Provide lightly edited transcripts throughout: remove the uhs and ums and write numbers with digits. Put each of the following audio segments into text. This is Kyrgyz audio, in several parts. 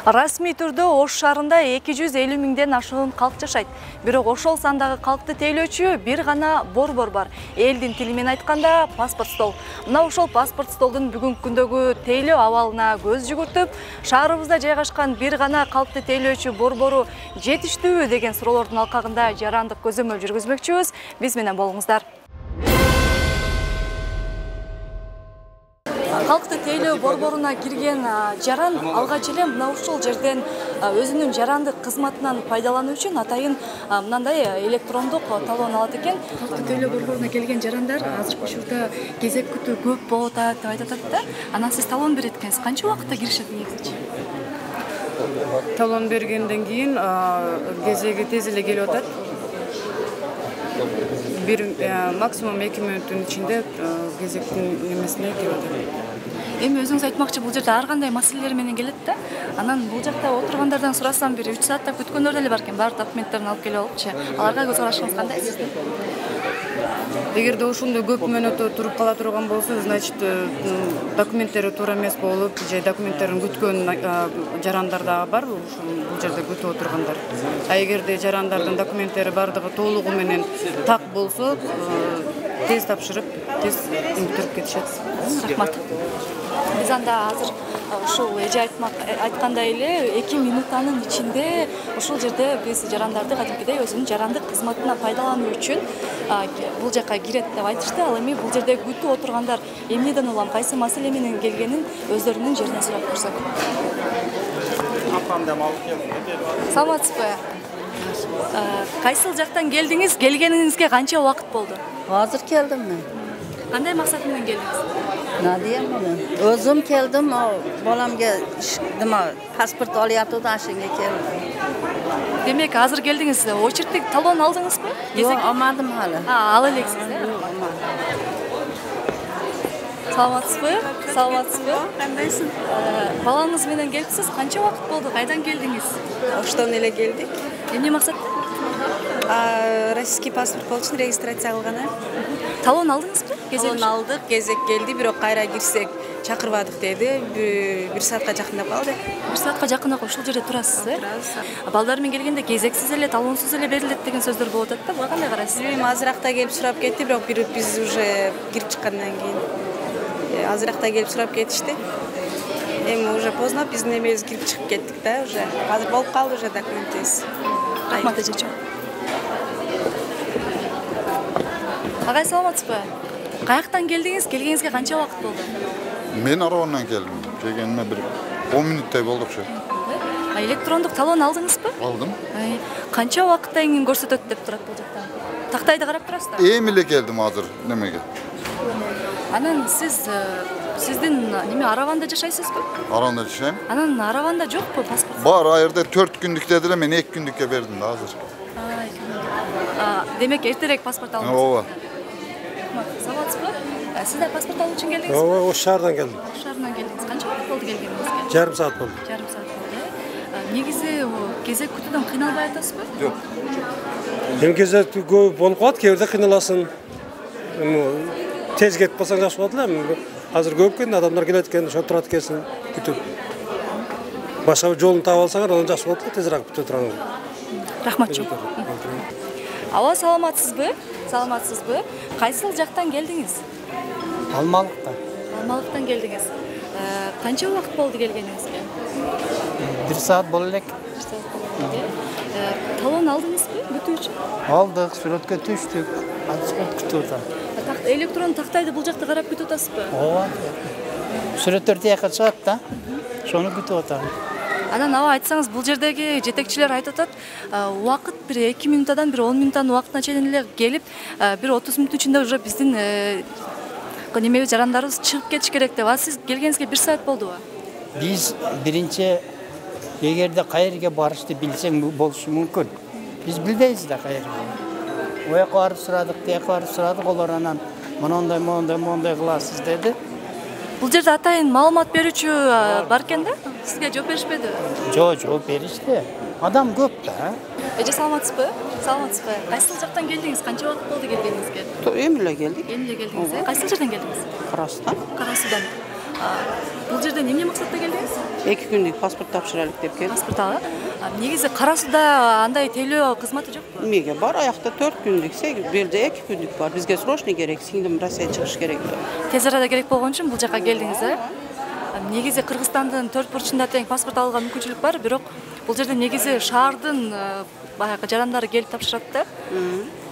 Расмий түрдө Ош шаарында 250 миңден ашуун калк жашайт. Бирок ошол сандагы калкты тейлөөчү бир гана борбор бар. Элдин тили менен айтканда паспорт стол. Мына ошол паспорт столдун бүгүнкү күндөгү тейлөө абалына көз жүгүртүп, шаарыбызда жайгашкан бир гана калкты тейлөөчү борбору жетиштүүбү деген суроолордун алкагында жарандык көзөмөл жүргүзмөкчүбүз. Биз менен болуңуздар. Калкты тейлөө борборуна кирген жаран алгач эле мына ушул жерден өзүнүн жарандык кызматынан пайдалануу үчүн атайын мындай электрондук талон алат экен. Калкты тейлөө борборуна келген жарандар азыркы учурда кезек күтүү көп болуп атат деп айтып атат да. Анан сиз талон берет экенсиз. Канча убакытта киришет негизичи? Талон бергенден кийин кезеги тез эле келип атат. Бир максимум 2 мүнөттүн ичинде кезектин немесине келип атат. Эми өзүңүз айтмакчы, бул жерде ар кандай маселелер менен келет да. Анан бул жакта отургандардан сурасам, бир 3 сааттап күткөндөр деле бар экен. Баардык документтерин алып келип алыпчы. Аларга көз карашыңыз кандай сиздин? Эгерде ошондой көп мөөнөттө туруп кала турган болсо, значит, документтери туура эмес болуп, же документтерин күткөн жарандар да бар, бул жерде күтүп отургандар. А эгерде жарандардын документтери бардыгы толугу менен так болсо, тез тапшырып, тез өтүрүп кетишет. Рахмат. Биз анда азыр ушул эже айткандай эле 2 минуттанын ичинде ушул жерде биз жарандарды кадимкидей өзүнүн жарандык кызматына пайдалануу үчүн бул жака кирет деп айтышты. Ал эми бул жерде күтүп отургандар эмнеден улам кайсы маселе менен келгенин өздөрүнүн жеринен сурап көрсөк. Апамдан алып келдим. Саламатсызбы? Кайсыл жактан келдиңиз? Келгениңизге канча убакыт болду? Азыр келдим мен. Кандай максат менен келдиңиз? Надия менен. Өзүм келдим, баламга паспорт алып да ашынга келдим. Демек, азыр келдиңиз, очередтик талон алдыңызбы? Жок, алмадым хали. Ал элексиз, э? Саламатсызбы? Саламатсызбы? Кандайсың? Балаңыз менен келипсиз. Канча убакыт болду? Кайдан келдиңиз? Оштон эле келдик. Эмне максатта? Российский паспорт болчу үчүн регистрация кылган. Талон алдыңызбы? Талон алдык, кезек келди, бирок кайра кирсек чакырбадык деди. 1 саатка жакындап калды. 1 саатка жакындап ушул жерде турасыз, э? Балдар менен келгенде кезексиз эле, талонсуз эле берилет деген сөздөр болуп атат да. Буга кандай карайсыз? Эми азыракта келип сурап кетти, бирок биз уже кирип чыккандан кийин азыракта келип сурап кетишти. Эми уже поздно, биздин эмебиз кирип чыгып кеттик да, уже. Азыр болуп калды уже документибиз. Рахмат эжечи. Агай, саламатсызбы? Каяктан келдиңиз? Келгениңизге канча убакыт болду? Мен Аравандан келдим. Келгениме бир 10 мүнөттөй болдукчу. Электрондук талон алдыңызбы? Алдым. Канча убакытта кийин көрсөтөт деп турат бул жакта? Тактайды карап турасызбы? Эми эле келдим азыр немеге. Анан сиздин неме Араванда жашайсызбы? Араванда жашайм. Анан Араванда жокпу паспорт? Бар, айырда 4 күндүк дедиле, мен 2 күндүккө бердим да азыр. Демек эртерээк паспорт алдыңыз. Ооба. Саламатсызбы? Сиз да паспорт алуу үчүн келдиңизби? Ооба, Ош шаардан келдим. Ош шаарынан келдиңиз. Канча убакыт болду келгениңизге? Жарым саат болду. Жарым саат болду. Негизи кезек күтүүдөн кыйналбай атасызбы? Жок. Эми кезек көп болуп калат, кээ бирде кыйналасың. Тез кетип калсаң жакшы болот эле. Азыр көп экен, адамдар келет экен, ошо турат экенсиң күтүп. Башка бир жолун таап алсаңар, анан жакшы болот эле, тезирээк бүтө турган. Рахмат жок. Ава, саламатсызбы? Саламатсызбы? Кайсыл жактан келдиңиз? Алмалыктан. Алмалыктан келдиңиз. Канча убакыт болду келгениңизге? 1 саат болду элек. 1 саат болду. Талон алдыңызбы күтүү үчүн? Алдык, сүрөткө түштүк. Азыр күтүп атам. Электрон тактайды бул жакта карап күтүп атасызбы? Ооба. Сүрөттөр тияка чыгат да. Шону күтүп атам. Анан аба айтсаңыз, бул жердеги жетекчилер айтып атат, убакыт бир 2 минуттан бир 10 минуттан убакытына чейин эле келип, бир 30 мүнөт ичинде уже биздин немебиз жарандарыбыз чыгып кетиш керек деп. Сиз келгениңизге 1 саат болдубу? Биз биринчи эгерде кайерге барышты билсең болушу мүмкүн. Биз билбейбиз да кайерге. Ояка барып сурадык, тияка барып сурадык, олар анан мондай кыласыз деди. Бул жерде атайын маалымат берүүчү бар экен да? Сизге жооп беришпедиби? Жооп беришти. Адам көп да. Эже, саламатсызбы? Саламатсызбы? Кайсыл жактан келдиңиз? Канча убакыт болду келгениңизге? Эми эле келдик. Эми эле келдиңиз, э? Кайсыл жерден келдиңиз? Карасудан. Карасудан. Бул жерде эмне максатта келдиңиз? 2 күндүк паспорт тапшырайлык деп келдим. Паспорт алга. Негизи Кара Сууда андай тейлөө кызматы жокпу? Эмеге бар, аякта 4 күндүк, бул жерде 2 күндүк бар. Бизге срочный керек, сиңдим Россияга чыгыш керек. Тез арада керек болгон үчүн бул жака келдиңиз, Негизи Кыргызстандын 4 бурчунда тең паспорт алууга мүмкүнчүлүк бар, бирок бул жерде негизи шаардын баягы жарандары келип тапшырат да.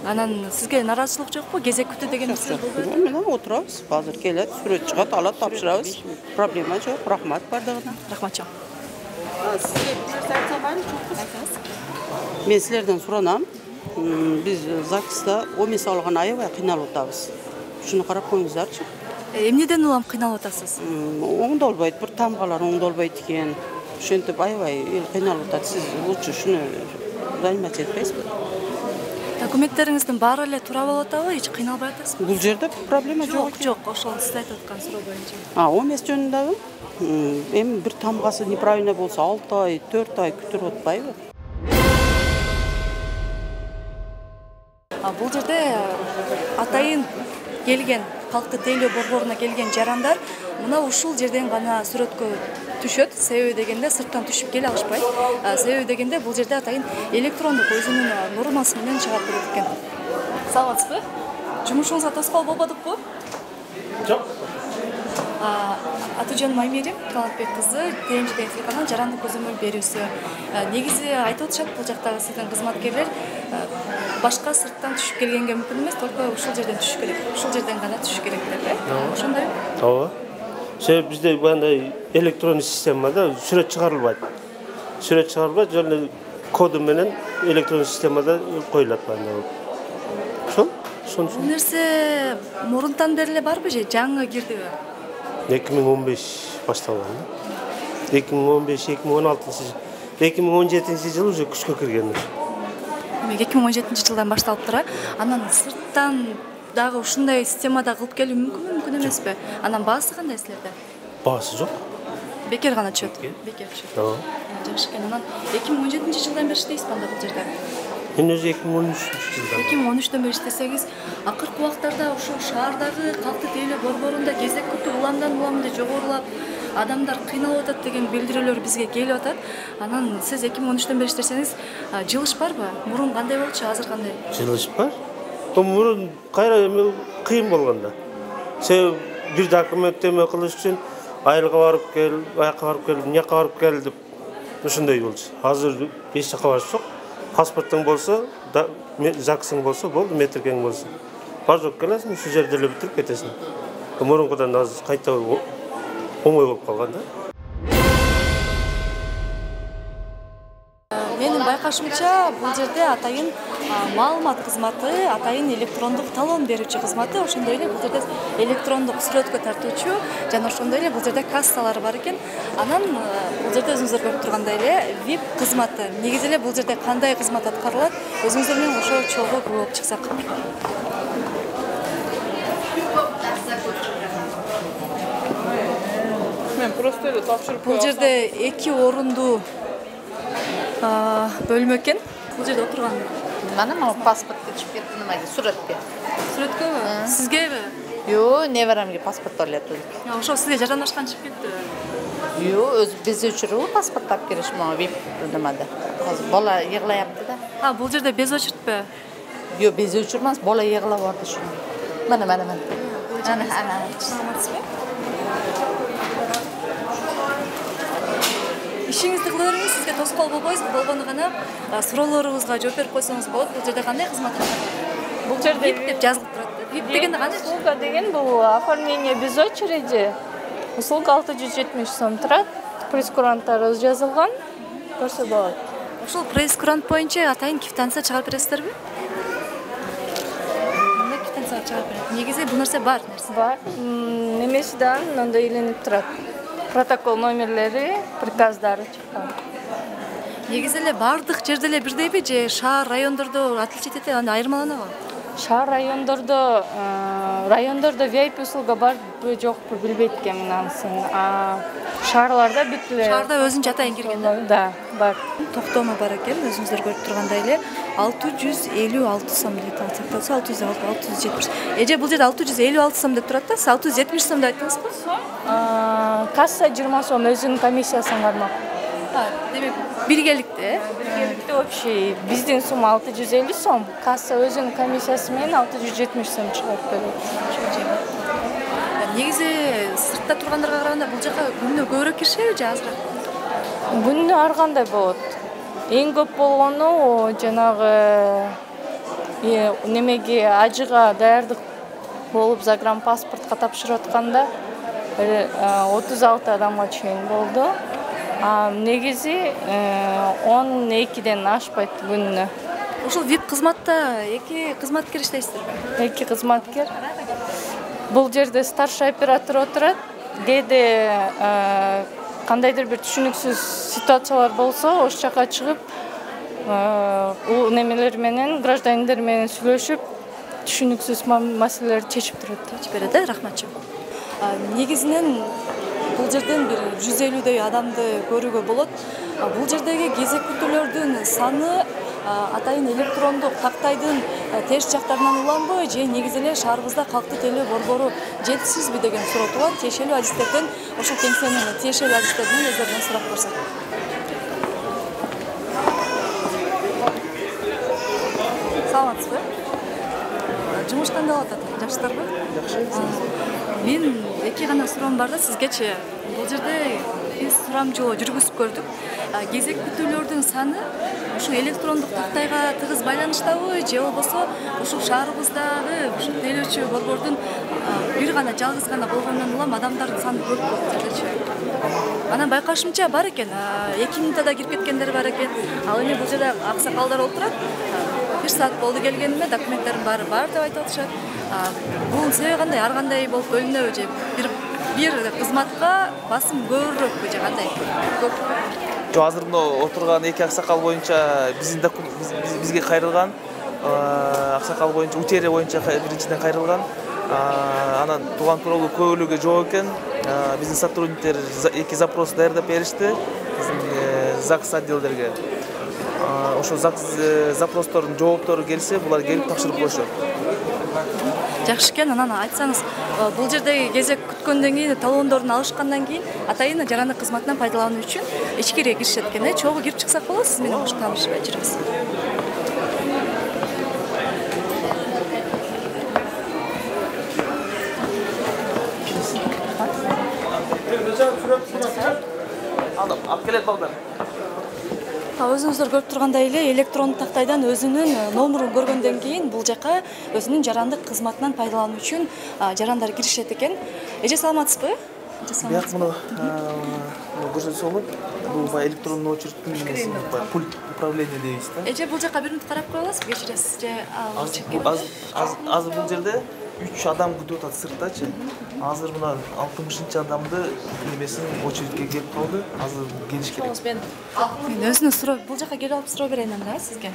Анан сизге нараазычылык жокпу? Кезек күтүү деген нерсе болбойт? Мына отурабыз. Азыр келет, сүрөт чыгат, алат, тапшырабыз. Проблема жок. Рахмат бардыгына. Рахмат чоң. Сизге бир нерсе айтсам айрыкчы. Мен силерден суранам. Биз ЗАГСта ОМС алган аябай кыйналып атабыз. Ушуну карап коюңуздарчы. Эмнеден улам кыйналып атасыз? Оңдолбойт, бир тамгалар оңдолбойт экен. Ошентип аябай кыйналып атат. Сиз лучше шуну заниматься этпейсизби? Документтериңиздин баары эле туура болуп атабы? Эч кыйналбай атасызбы? Бул жерде проблема жок. Жок, ошол сиз айтып аткан суроо боюнча. ОМС жөнүндөгү эми бир тамгасы неправильно болсо 6 ай, 4 ай күтүрүп атпайбы? Бул жерде атайын келген калкты тейлөө борборуна келген жарандар мына ушул жерден гана сүрөткө түшөт. Себеби дегенде сырттан түшүп келе алышпайт. Себеби дегенде бул жерде атайын электрондук өзүнүн нормасы менен чыгарып берет экен. Саламатсызбы? Жумушуңузга тоскоол болбодукпу? Жок. Атужан Маймерим, Талантбек кызы, ТМЖ телеканал жарандык көзөмөл берүүсү. Негизи айтып атышат бул жактагы сиздин кызматкерлер башка сырттан түшүп келгенге мүмкүн эмес, только ушул жерден түшүш керек. Ушул жерден гана түшүш керек деп, ошондойбу? Ооба. Себеби бизде мындай электрондук системада сүрөт чыгарылбайт. Сүрөт чыгарылбайт, жана коду менен электрондук системада коюлат мындай. Ошол. Бул нерсе мурунтан бери эле барбы же жаңы кирдиби? 2015 башталган. 2015-2016 2017 уже күчкө кирген. 2017 жылдан башталып тура. Анан сырттан дагы ушундай системада кылып келүү мүмкүн эмеспи? Анан баасы кандай силерде? Баасы жок. Бекер гана түшөт. Бекер түшөт. Ооба. Жакшы экен. Анан 2017 жылдан бери иштейсизби анда бул жерде? Мен өзү 2013 жылдан. 2013 бери иштесеңиз, акыркы убактарда ушул шаардагы калкты тейлөө борборунда кезек күтүү уламдан жогорулап, адамдар кыйналып атат деген билдирүүлөр бизге келип атат. Анан сиз 2013 бери иштесеңиз, жылыш барбы? Мурун кандай болчу, азыр кандай? Жылыш бар. Мурун кайра кыйын болгондо. Себеби бир документтеме кылыш үчүн айылга барып кел, аяка барып кел, мынакка барып кел деп ошондой болчу. Азыр эч жака барыш жок. Паспортуң болсо, ЗАГСың болсо, болду, метркең болсо. Бар жок келесиң, ушул жерде эле бүтүрүп кетесиң. Мурункудан азыр кайта оңой болуп калган да. Менин байкашымча, бул жерде атайын маалымат кызматы, атайын электрондук талон берүүчү кызматы, ошондой эле бул жерде электрондук сүрөткө тартуучу жана ошондой эле бул жерде кассалар бар экен. Анан бул жерде өзүңүздөр көрүп тургандай эле VIP кызматы. Негизи эле бул жерде кандай кызмат аткарылат? Өзүңүздөр менен ошо чогуу көрүп чыксак. Мен просто эле тапшырып Бул жерде 2 орундуу бөлмө экен. Бул жерде отурган. Mana pasportga chiqib ketdi nimaga? Suratga. Сүрөткөбү? Сизгеби? Yo, nevaramga pasport olyapti. Ошо сизге жаранашкан чыгып кетти. Yo, o'zi biz uchun pasport olib kelish VIP nimada. Hozir bola yig'layapti-da. Бул жерде без очередьпи? Yo, bez uchun emas, bola yig'lab bordi shuni. Mana. Ana. Саламатсызбы? Ишиңизди кыла бериңиз, сизге тоскоол болбойсузбу? Болгону гана суроолорубузга жооп берип койсоңуз болот. Бул жерде кандай кызмат аткарылат? Бул жерде VIP деп жазылып турат. VIP дегенде кандай? услуга деген бул оформление без очереди. Услуга 670 сом турат. Прейскуранттары жазылган. Көрсө болот. Ошол прейскурант боюнча атайын квитанция чыгарып бересиздерби? Кандай квитанция чыгарып берет? Негизи бул нерсе бар нерсе. Бар. Немесидан мындай иленип турат. Протокол номерлери, приказдары чыккан. Негизи эле бардык жерде эле бирдейби же шаар, райондордо отличить этет, анда айырмаланабы? Шаар райондордо VIP услуга барбы жокпу билбейт экенмин анысын. Шаарларда бүт эле. Шаарда өзүнчө атайын кирген. Да, бар. Токтому бар экен, өзүңүздөр көрүп тургандай эле 656 сом деп аталса 670. Эже бул жерде 656 сом деп турат да, 670 сом деп айттыңызбы? касса 20 сом өзүнүн комиссиясын кармак. Демек биргеликте Биргеликте общий биздин сумма 650 сом, касса өзүнүн комиссиясы менен 670 сом чыгып берет. негизи сыртта тургандарга караганда бул жака күнүнө көбүрөөк киришеби же азыраак? Күнүнө ар кандай болот. Эң көп болгону жанагы немеге ажыга даярдык болуп загранпаспортко тапшырып атканда 36 адамга чейин болду. Негизи 12ден ашпайт күнүнө. Ошол VIP кызматта 2 кызматкер иштейсиздерби? 2 кызматкер. Бул жерде старший оператор отурат. Кээде кандайдыр бир түшүнүксүз ситуациялар болсо, ош жака чыгып, немелер менен, граждандер менен сүйлөшүп, түшүнүксүз маселелерди чечип турат. Чечип берет, рахматчы. Негизинен бул жерден бир 150дөй адамды көрүүгө болот. Бул жердеги кезек күтүүлөрдүн саны атайын электрондук тактайдын терс жактарынан уланбы же негизи эле шаарыбызда калктуу тейлөө борбору жетишсизби деген суроо туулат. Тиешелүү адистерден, ошол кеңсенин тиешелүү адистеринен өздөрүнөн сурап көрсөк. Саламатсызбы? Жумуш кандай болуп атат? Жакшысыздарбы? Жакшы. Мен 2 гана суроом бар да сизгечи. Бул жерде биз сурамжылоо жүргүзүп көрдүк. Кезек күтүүлөрдүн саны ушу электрондук тактайга тыгыз байланыштабы же болбосо ушул шаарыбыздагы ушу тейлөөчү борбордун бир гана жалгыз гана болгонунан улам адамдардын саны көп бул жердечи. Анан байкашымча бар экен, 2 минутада кирип кеткендер бар экен. Ал эми бул жерде аксакалдар отурат. 1 саат болду келгениме, документтерим баары бар деп айтып атышат. Бул себеби кандай? Ар кандай болуп бөлүнөбү же бир кызматка басым көбүрөөкпү же кандай? Көп. Жок, азыр мына отурган 2 аксакал боюнча бизге кайрылган. Аксакал боюнча утери боюнча биринчиден кайрылган. Анан тууган тууралуу көбөлүгү жок экен. Биздин сотрудниктер 2 запрос даярдап беришти биздин ЗАГС отделдерге. Ошо ЗАГС запростордун жооптору келсе, булар келип тапшырып коюшат. Жакшы экен, анан айтсаңыз, бул жердеги кезек күткөндөн кийин, талондорун алышкандан кийин атайын жарандык кызматынан пайдалануу үчүн ичкириге киришет экен. Чогуу кирип чыксак болот, сиз менен кош таанышып жүрүбүз. Алып келет балдар. Өзүңүздөр көрүп тургандай эле электрондук тактайдан өзүнүн номерун көргөндөн кийин бул жака өзүнүн жарандык кызматынан пайдалануу үчүн жарандар киришет экен. Эже саламатсызбы? Бияк муну көрсөтсө болот. Бул баягы электрондук очередтин пульт управления дейбиз да. Эже бул жака 1 минут карап кое аласызбы? Кечиресиз же азыр бул жерде 3 адам күтүп атат сырттачы. Азыр мына 60-чы адамды немесин очередке келип калды. Азыр келиш керек. Мен өзүнө суроо, бул жака келип алып суроо берейин анда сизге.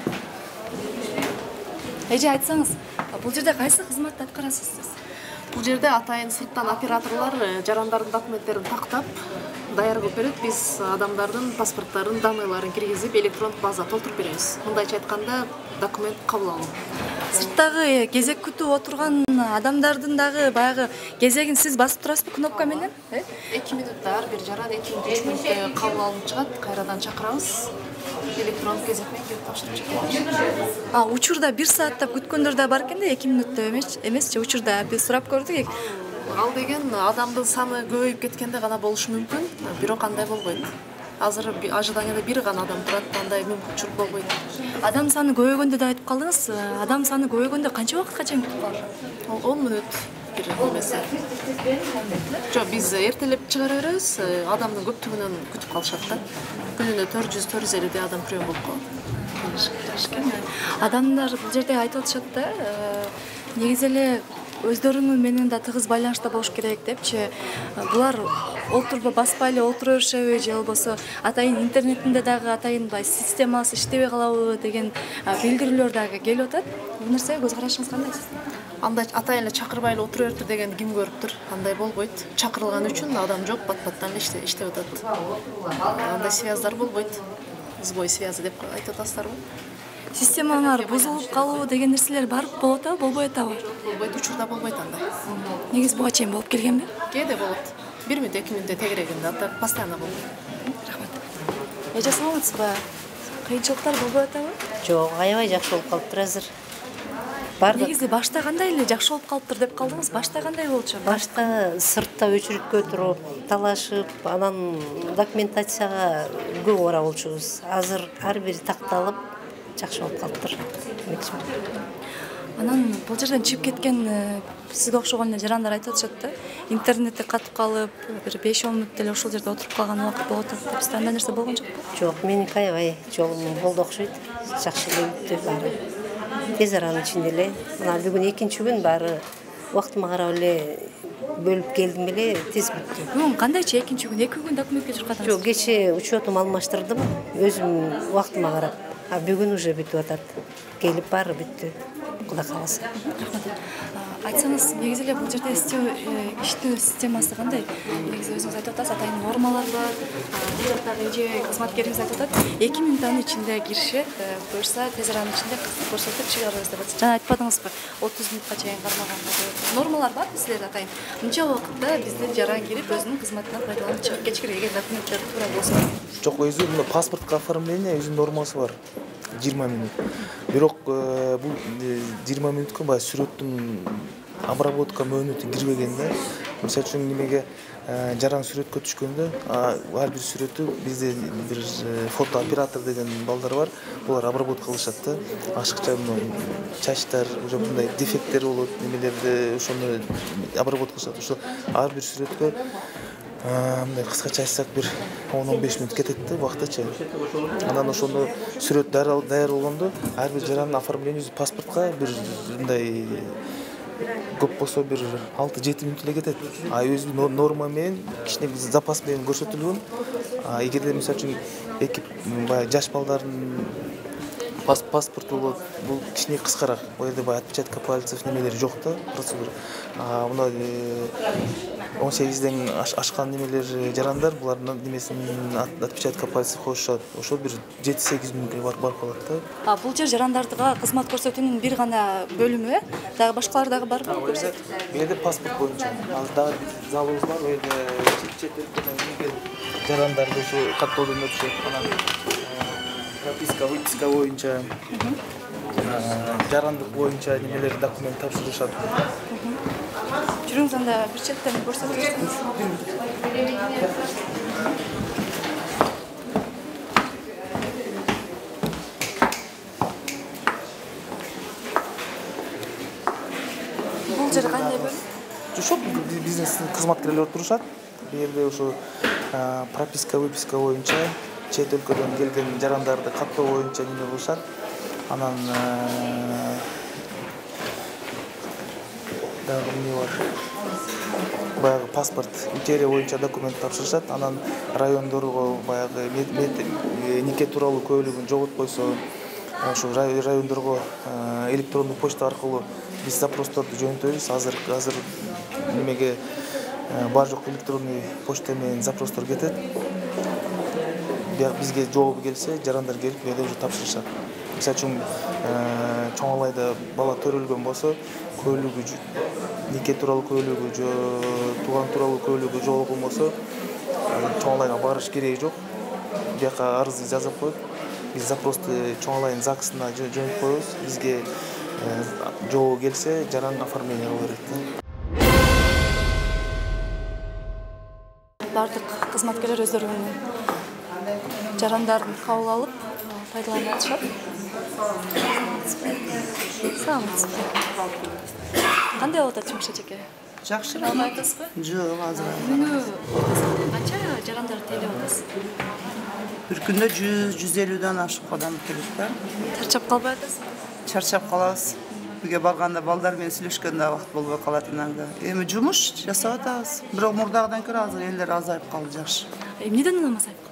Эже айтсаңыз, бул жерде кайсы кызматты аткарасыз сиз? Бул жерде атайын сырттан операторлор жарандардын документтерин тактап даяр кылып берет. Биз адамдардын паспорттарын, данныйларын киргизип, электрондук база толтуруп беребиз. Мындайча айтканда, документ кабыл алуу. Сырттагы кезек күтүп отурган адамдардын дагы баягы кезегин сиз басып турасызбы кнопка менен? 2 минутта ар бир жаран 2-3 мүнөттө кабыл алынып чыгат, кайрадан чакырабыз. Электрондук кезек менен келип тапшырып чыгат. Учурда 1 сааттап күткөндөр да бар экен да, 2 мүнөттө эмес, учурда биз сурап көрдүк. Ал деген адамдын саны көбөйүп кеткенде гана болушу мүмкүн, бирок андай болбойт. Азыр ожиданияда 1 гана адам турат, андай мүмкүнчүлүк болбойт. Адам саны көбөйгөндө да айтып калдыңыз. Адам саны көбөйгөндө канча убакытка чейин күтүп калат? 10 мүнөт бир немеси. Жок, биз эртелеп чыгара беребиз, адамдын көптүгүнөн күтүп калышат да. Күнүнө 400-450 адам прием болуп калат. Адамдар бул жерде айтып атышат да, негизи эле өздөрүнүн менен да тыгыз байланышта болуш керек депчи. Булар баспай эле отура беришеби же болбосо атайын интернетинде дагы атайын системасы иштебей калабы деген билдирүүлөр дагы келип атат. Бул нерсеге көз карашыңыз кандай сиздин? Андай атайын эле чакырбай эле отура бериптир деген ким көрүптүр? Андай болбойт. Чакырылган үчүн адам жок, бат-баттан эле иштеп атат. Андай связьдар болбойт. Сбой связи деп айтып атасыздарбы? Системалар бузулуп калуу деген нерселер бар болот болбой атабы? Болбойт, учурда болбойт андай. Негизи буга чейин болуп келгенби? Кээде болот. 1 мүнөт 2 мүнөттө тегерегинде атап постоянно болду. Рахмат. Эже саламатсызбы? Кыйынчылыктар болбой атабы? Жок, аябай жакшы болуп калыптыр азыр. Бардык. Негизи башта кандай эле жакшы болуп калыптыр деп калдыңыз? Башта кандай болчу? Башта сыртта өчүрүткө туруп, талашып, анан документацияга көп ора болчубуз. Азыр ар бири такталып, жакшы болуп калыптыр. Анан бул жерден чыгып кеткен сизге окшогон эле жарандар айтып атышат да. Интернетте катып калып, бир 5-10 мүнөт эле ошол жерде отуруп калган убакыт болот деп. Сизде андай нерсе болгон жокпу? Жок, меники аябай жолум болду окшойт. Жакшы эле бүттү баары. Тез аранын ичинде эле. Мына бүгүн экинчи күн баары убактыма карап эле бөлүп келдим эле, тез бүттү. Бүгүн кандайчы экинчи күн? 2 күн документке чуркадыңыз? Жок, кечээ учетум алмаштырдым, өзүм убактыма карап. А бүгүн уже бүтүп атат. Келип баары бүттү. Кудай кааласа. Айтсаңыз, негизи эле бул жерде иштөө системасы кандай? Негизи өзүңүз айтып атасыз, атайын нормалар бар. Бул жактагы эже кызматкериңиз айтып атат, 2 мүнөттүн ичинде киришет, буюрса тез аранын ичинде көрсөтүп чыгарабыз деп атат. Жана айтпадыңызбы, 30 мүнөткө чейин кармаганга деп. Нормалар барбы силерде атайын? Мынча убакытта бизде жаран кирип өзүнүн кызматынан пайдаланып чыгып кетиш керек, эгер документтер туура болсо. Жок, өзү мына паспортко оформление өзүнүн нормасы бар. 20 мүнөт. Бирок бул 20 мүнөткө баягы сүрөттүн обработка мөөнөтү кирбеген да. Мисалы үчүн немеге жаран сүрөткө түшкөндө ар бир сүрөтү бизде бир фотооператор деген балдар бар. Булар обработка кылышат да. Ашыкча чачтар, уже мындай дефекттер болот, немелерди ошону обработка кылышат. Ошо ар бир сүрөткө мындай кыскача айтсак бир 10-15 мүнөт кетет да убактыча. Анан ошону сүрөт даяр болгондо ар бир жарандын оформлениеси паспортко бир мындай көп болсо бир 6-7 мүнөт эле кетет. Өзү норма менен кичине запас менен көрсөтүлгөн. Эгерде мисалы үчүн эки баягы жаш балдардын паспорту болот, бул кичине кыскараак. Бул жерде баягы отпечатка пальцев немелери жок да, процедура. Мына 18ден ашкан немелер жарандар булардын немесинин отпечатка пальцев коюшат. Ошол бир 7-8 мүнөткө барып калат да. Бул жер жарандардыга кызмат көрсөтүүнүн бир гана бөлүмү, дагы башкалар дагы барбы? Бул жерде паспорт боюнча. Азыр дагы залыбыз бар, бул жерде чет өлкөдөн келген жарандарды ушу каттоодон өтүшөт. Анан прописка, выписка боюнча, жарандык боюнча немелер документ тапшырышат. Жүрүңүз анда бир четтен көрсөтүп берсеңиз. Бул жер кандай бөлүм? Жок, бизнестин кызматкерлери турушат. Бул жерде ушу прописка, выписка боюнча чет өлкөдөн келген жарандарды каттоо боюнча неме кылышат. Анан дагы эмне бар? Баягы паспорт, материя боюнча документ тапшырышат. Анан райондорго баягы нике тууралуу көйлөгүн жоготкойсо, ошо райондорго электрондук почта аркылуу биз запросторду жөнөтөбүз. Азыр немеге бар жок электронный почта менен запростор кетет. Бизге жообу келсе, жарандар келип бу жерде уже тапшырышат. Мисалы үчүн чоң алайда бала төрөлгөн болсо, көйлөгү нике тууралуу көйлөгү же тууган тууралуу көйлөгү жоголгон болсо, чоң алайга барыш кереги жок. Бияка арызды жазып коюп, биз запросту чоң алайдын ЗАГСына жөнөтүп коебуз. Бизге жообу келсе, жаран оформление кыла берет. Бардык кызматкерлер өздөрүнүн жарандарын кабыл алып пайдаланып атышат. Саламатсызбы? Кандай болуп атат жумуш эжеке? Жакшы. Албай атасызбы? Жок, азыр. Күнү канча жарандар тейлеп атасыз? Бир күндө 100-150дөн ашык адам келет да. Чарчап калбай атасызбы? Чарчап калабыз. Үйгө барганда балдар менен сүйлөшкөндө убакыт болбой калат иногда. Эми жумуш жасап атабыз. Бирок мурдагыдан көрө азыр элдер азайып калды, жакшы. Эмнеден улам азайып калды?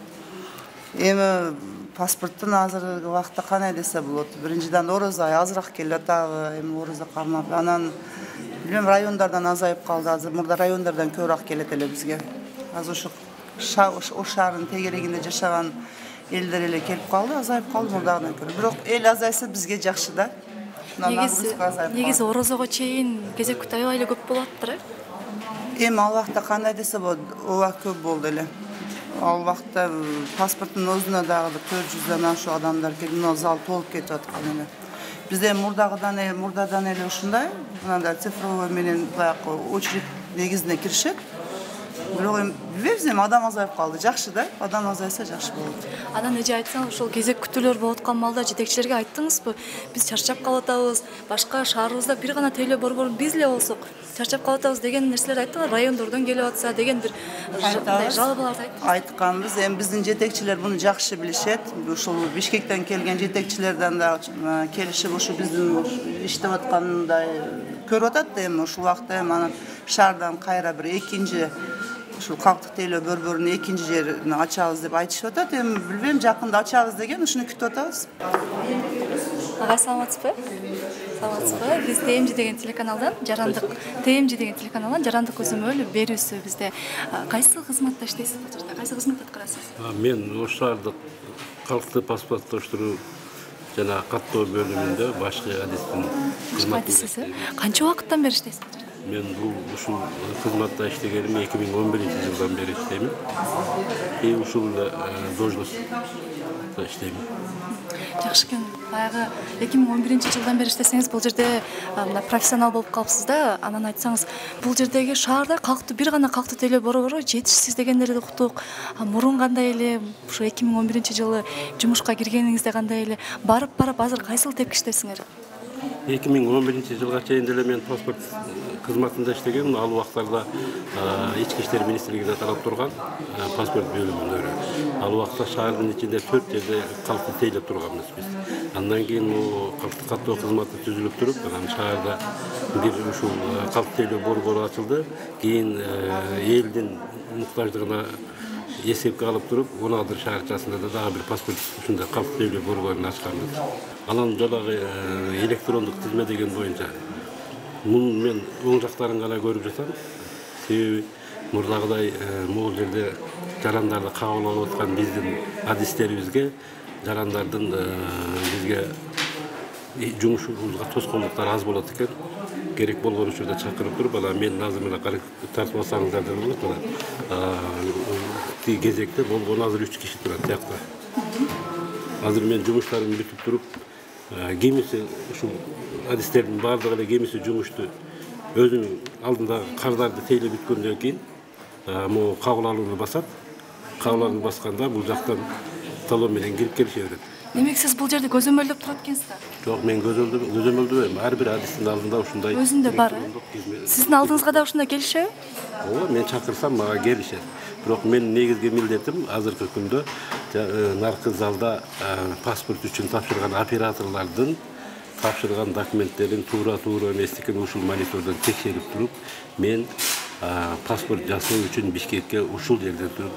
Эми паспорттун азыркы убакытта кандай десе болот. Биринчиден орозо азыраак келип атабы, эми орозо кармап, анан билем райондардан азайып калды. Азыр мурда райондардан көбүрөөк келет эле бизге. Азыр ушу Ош шаарынын тегерегинде жашаган элдер эле келип калды, азайып калды мурдагыдан көрө. Бирок эл азайса бизге жакшы да. Негизи орозого чейин кезек күтүү аябай эле көп болуп атыптыр, Эми ал убакта кандай десе болот, ооба көп болду эле. Ал убакта паспорттун өзүнө дагы 400дөн ашук адамдар келип, мына зал толуп кетип аткан эле. Бизде мурдадан эле ушундай, мындай цифровой менен баягы очередь негизинде киришет. Бирок эми билбейбиз, эми адам азайып калды. Жакшы да, адам азайса жакшы болот. Анан эже айтсаң, ошол кезек күтүүлөр болуп аткан маалда жетекчилерге айттыңызбы? Биз чарчап калып атабыз, башка шаарыбызда бир гана тейлөө борборун биз эле болсок, чарчап калып атабыз деген нерселерди айттыңар, райондордон келип атса деген бир жалобаларды айттыңыз. Айтканбыз, эми биздин жетекчилер буну жакшы билишет. Ушул Бишкектен келген жетекчилерден да келишип ушу биздин иштеп аткандай көрүп атат да, эми ушул убакта эми анан шаардан кайра бир экинчи ушул калктык тейлөө борборунун экинчи жерин ачабыз деп айтышып атат. Эми билбейм, жакында ачабыз деген ушуну күтүп атабыз. Агай, саламатсызбы? Саламатсызбы? Биз ТМЖ деген телеканалдан, жарандык көзөмөл берүүсү бизде. Кайсы кызматта иштейсиз бул жерде? Кайсы кызмат аткарасыз? Мен ош шаардык калктык паспорттоштуруу жана каттоо бөлүмүндө башкы адистин кызматында. Канча убакыттан бери иштейсиз бул жерде? Мен ушул кызматта иштегеним 2011-жылдан бери иштеймин. Ушул должността иштеймин. Жакшы экен. Баягы 2011-жылдан бери иштесеңиз, бул жерде профессионал болуп калыпсыз да. Анан айтсаңыз, бул жердеги шаарда бир гана калктык тейлөө борбору жетишсиз дегендерди уктук. Мурун кандай эле, ушу 2011-жылы жумушка киргениңизде кандай эле, барып азыр кайсыл тепкичтесиңер? 2011-жылга чейин деле мен паспорт кызматында иштегем. Ал убактарда Ички иштер министрлигине тарап турган паспорт бөлүмүндө. Ал убакта шаардын ичинде 4 жерде калктык тейлеп турганбыз биз. Андан кийин калктык каттоо кызматы түзүлүп туруп, анан шаарда бир ушул калктык тейлөө борбору ачылды. Кийин элдин муктаждыгына эсепке алып туруп, 16 шаарчасында да дагы бир паспорт ушундай калктык тейлөө борборун ачканбыз. Анан жадагы электрондук тизме деген боюнча муну мен оң жактарын гана көрүп жатам. Себеби мурдагыдай могул жерде жарандарды кабыл алып аткан биздин адистерибизге жарандардын бизге жумушубузга тоскоолдуктар аз болот экен. Керек болгон учурда чакырып туруп, анан мен азыр мына тартып алсаңыздар деп болот. Тиги кезекте болгону азыр 3 киши турат тиякта. Азыр мен жумуштарымды бүтүп туруп, кемиси ушул адистердин баардыгы эле кемиси жумушту өзүнүн алдында кардарды тейлеп бүткөндөн кийин могу кабыл алууну басат. Кабыл алууну басканда бул жактан талон менен кирип келише берет. Демек сиз бул жерде көзөмөлдөп турат экенсиз да? Жок, мен көзөмөлдөбөйм. Ар бир адистин алдында ушундай өзүндө бар. Сиздин алдыңызга да ушундай келишеби? Ооба, мен чакырсам мага келишет. Бирок менин негизги милдетим азыркы күндө наркы залда паспорт үчүн тапшырган операторлордун тапшырган документтерин туура эместигин ушул монитордон текшерип туруп, мен паспорт жасоо үчүн Бишкекке ушул жерден туруп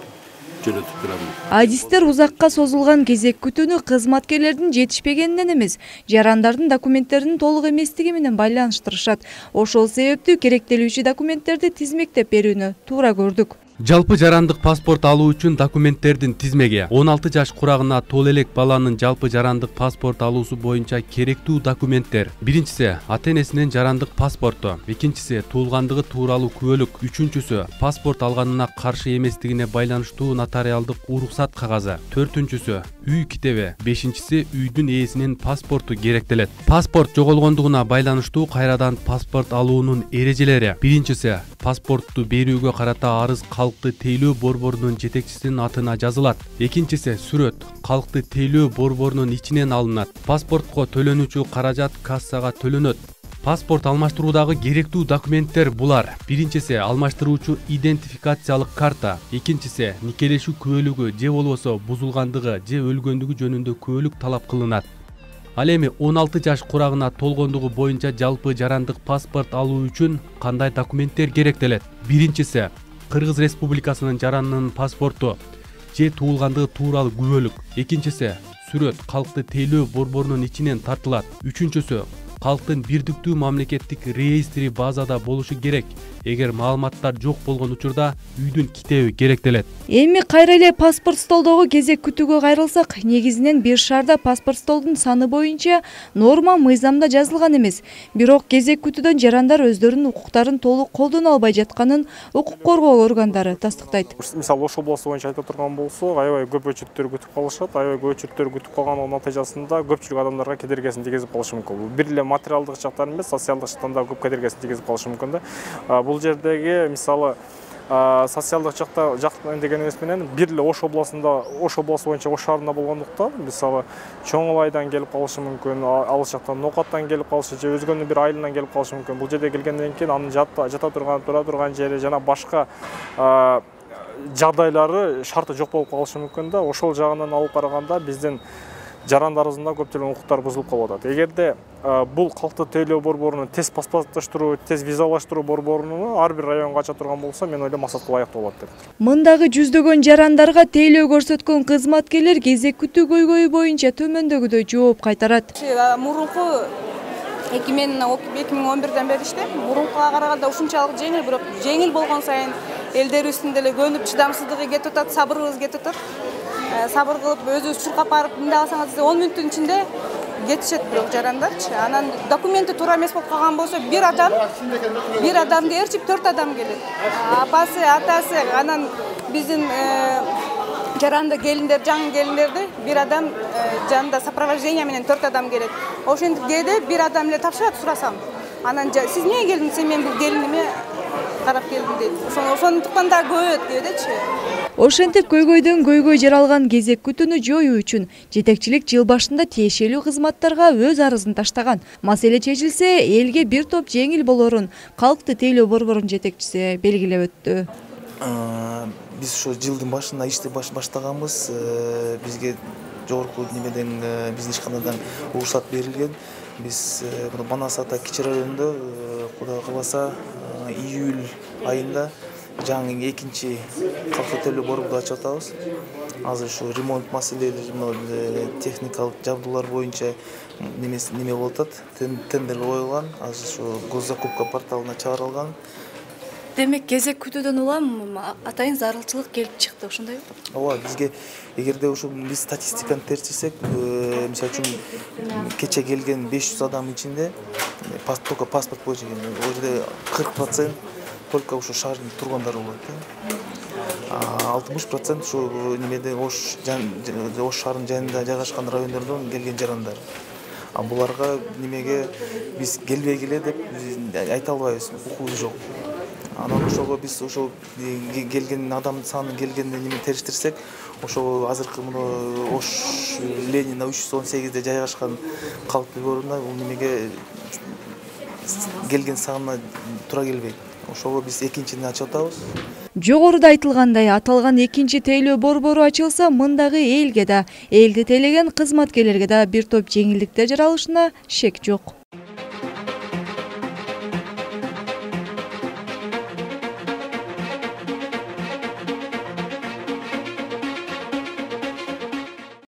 жөнөтүп турам. Адистер узакка созулган кезек күтүүнү кызматкерлердин жетишпегенинен эмес, жарандардын документтеринин толук эместиги менен байланыштырышат. Ошол себептүү керектелүүчү документтерди тизмектеп берүүнү туура көрдүк. Жалпы жарандык паспорт алуу үчүн документтердин тизмеге 16 жаш курагына тол элек баланын жалпы жарандык паспорт алуусу боюнча керектүү документтер. Биринчиси ата-энесинин жарандык паспорту, экинчиси туулгандыгы тууралуу күбөлүк, үчүнчүсү паспорт алганына каршы эместигине байланыштуу нотариалдык уруксат кагазы, төртүнчүсү үй китеби, бешинчиси үйдүн ээсинин паспорту керектелет. Паспорт жоголгондугуна байланыштуу кайрадан паспорт алуунун эрежелери. Биринчиси паспортту берүүгө карата арыз калкты тейлөө борборунун жетекчисинин атына жазылат. Экинчиси сүрөт калкты тейлөө борборунун ичинен алынат. Паспортко төлөнүүчү каражат кассага төлөнөт. Паспорт алмаштыруудагы керектүү документтер булар. Биринчиси алмаштыруучу идентификациялык карта, экинчиси никелешүү күбөлүгү же болбосо бузулгандыгы же өлгөндүгү жөнүндө күбөлүк талап кылынат. Ал эми 16 жаш курагына толгондугу боюнча жалпы жарандык паспорт алуу үчүн кандай документтер керектелет? Биринчиси Кыргыз Республикасынын жаранынын паспорту же туулгандыгы тууралуу күбөлүк. Экинчиси сүрөт калкты тейлөө борборунун ичинен тартылат. Үчүнчүсү калктын бирдиктүү мамлекеттик реестри базада болушу керек. Эгер маалыматтар жок болгон учурда үйдүн китеби керектелет. Эми кайра эле паспорт столдогу кезек күтүүгө кайрылсак, негизинен бир шаарда паспорт столдун саны боюнча норма мыйзамда жазылган эмес. Бирок кезек күтүүдөн жарандар өздөрүнүн укуктарын толук колдоно албай жатканын укук коргоо органдары тастыктайт. Мисалы, Ош областы боюнча айтып турган болсо, аябай көп өчүрттөр күтүп калышат. Аябай көп өчүрттөр күтүп калганын натыйжасында көпчүлүк адамдарга кедергесин тийгизип калышы мүмкүн. Бир эле материалдык жактан эмес, социалдык жактан да көп кедергесин тийгизип калышы мүмкүн да. Бул жердеги мисалы социалдык жактан деген эмес менен бир эле Ош областы боюнча Ош шаарында болгондуктан, мисалы Чоңулайдан келип калышы мүмкүн, алыс жактан Нокаттан келип калышы же өзгөнүн бир айылынан келип калышы мүмкүн. Бул жерге келгенден кийин анын жата турган, тура турган жери жана башка жагдайлары шарты жок болуп калышы мүмкүн да. Ошол жагынан алып караганда биздин жарандарыбыздын да көптөгөн укуктары бузулуп калып атат. Эгерде бул калкты тейлөө борборунун тез паспорттоштуруу, тез визалаштыруу борборун ар бир районго ача турган болсо, мен ойлойм максатка ылайыктуу болот деп. Мындагы жүздөгөн жарандарга тейлөө көрсөткөн кызматкерлер кезек күтүү көйгөйү боюнча төмөндөгүдөй жооп кайтарат. Мурунку 2011-ден бери иштейм. Мурункуга караганда ушунчалык жеңил, бирок жеңил болгон сайын элдерибиздин деле көнүп чыдамсыздыгы кетип атат, сабырыбыз кетип атат. Сабыр кылып өзүбүз чуркап барып эмне алсаңыз 10 мүнөттүн ичинде кетишет бирок жарандарчы. Анан документи туура эмес болуп калган болсо бир адамды ээрчип 4 адам келет. Апасы, атасы, анан биздин жаранды келиндер, жаңы келиндерди бир адам жанында сопровождение менен 4 адам келет. Ошентип кээде бир адам эле тапшырат сурасам. Анан сиз эмнеге келдиңиз? Мен бул келиниме карап келдим дейт. Ошондуктан да көбөйөт кээдечи. Ошентип көйгөйдөн көйгөй жаралган кезек күтүүнү жоюу үчүн жетекчилик жыл башында тиешелүү кызматтарга өз арызын таштаган. Маселе чечилсе, элге бир топ жеңил болорун калкты тейлөө борборунун жетекчиси белгилеп өттү. Биз ошо жылдын башында ишти баштаганбыз. Бизге жогорку немеден биздин ишканадан уруксат берилген. Биз Манас ата кичи районунда Кудай кааласа июль айында жаңы экинчи калкты тейлөө борборду ачып атабыз. Азыр ушу ремонт маселелери, техникалык жабдуулар боюнча неме болуп атат. Тендер коюлган. Азыр ушу госзакупка порталына чыгарылган. Демек кезек күтүүдөн улам атайын зарылчылык келип чыкты, ошондойбу? Ооба, бизге эгерде ушу биз статистиканы терчисек, мисалы үчүн кече келген 500 адам ичинде только паспорт боюнча келген. Ол жерде 40% только ушу шаардын тургундары болот. 60% ушу немеде Ош шаарынын жанында жайгашкан райондордон келген жарандар. Буларга немеге биз келбегиле деп айта албайбыз, укугубуз жок. Анан ошого биз ошо келген адамдын санын келгенде неме териштирсек, ошо азыркы мына Ош Ленина 318-де жайгашкан калкты борборуна бул немеге келген санына туура келбейт. Ошого биз экинчини ачып атабыз. Жогоруда айтылгандай, аталган экинчи тейлөө борбору ачылса, мындагы элге да, элди тейлеген кызматкерлерге да бир топ жеңилдиктер жаралышына шек жок.